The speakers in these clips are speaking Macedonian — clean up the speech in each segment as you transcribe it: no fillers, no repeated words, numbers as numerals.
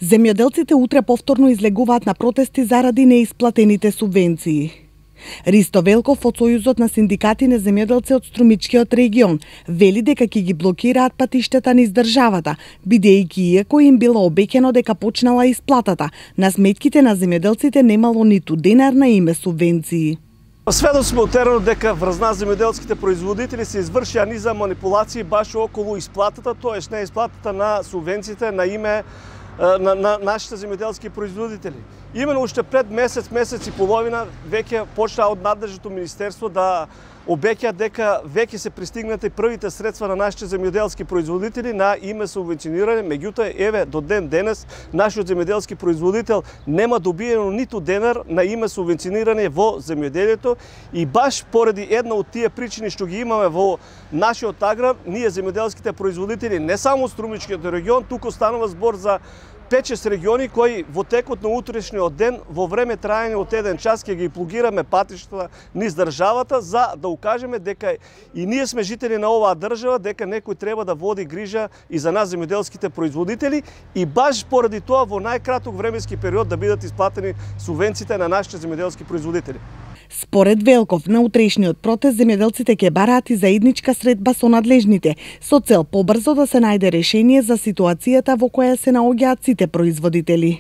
Земјоделците утре повторно излегуваат на протести заради неисплатените субвенции. Ристо Велков од Сојузот на синдикати на земјоделци од Струмичкиот регион вели дека ќе ги блокираат патиштата низ државата, бидејќи иако им било обеќано дека почнала исплатата, на сметките на земјоделците немало ниту денар на име субвенции. Сведоци сме утерано дека врз нас земјоделските производители се извршија низа манипулации баш околу исплатата, тоест не исплатата на субвенциите на име на нашите земјоделски производители. Именно уште пред месец и половина веќе почна од надлежното министерство да обеќа дека веќе се пристигнати првите средства на нашите земјоделски производители на име субвенционирање, меѓутоа еве до ден денес нашиот земјоделски производител нема добиено ниту денар на име субвенционирање во земјоделието и баш поради една од тие причини што ги имаме во нашиот аграр, ние земјоделските производители не само Струмичкиот регион, туку станува збор за 5-6 региони кои во текот на утрешниот ден во време траење од 1 час ќе ги плугираме патиштата низ државата за да укажеме дека и ние сме жители на оваа држава, дека некој треба да води грижа и за нас земјоделските производители и баш поради тоа во најкраток временски период да бидат исплатени субвенциите на нашите земјоделски производители. Според Велков, на утрешниот протест земјоделците ќе бараат и заедничка средба со надлежните, со цел побрзо да се најде решение за ситуацијата во која се наоѓаат сите производители.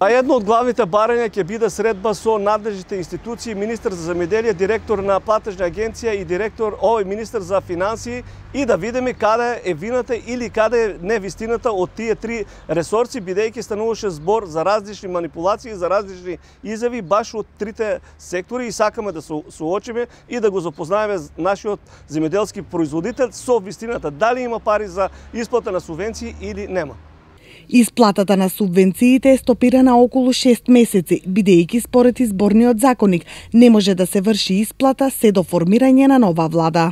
А едно од главните барања ќе биде средба со надлежните институции, министер за земјоделие, директор на платежна агенција и министер за финансии и да видиме каде е вината или каде е невистината од тие три ресорци, бидејќи стануваше збор за различни манипулации, за различни изјави баш од трите сектори и сакаме да се соочиме и да го запознаеме нашиот земјоделски производител со вистината, дали има пари за исплата на субвенции или нема. Исплатата на субвенциите е стопирана околу 6 месеци, бидејќи според изборниот законник не може да се врши исплата се до формирање на нова влада.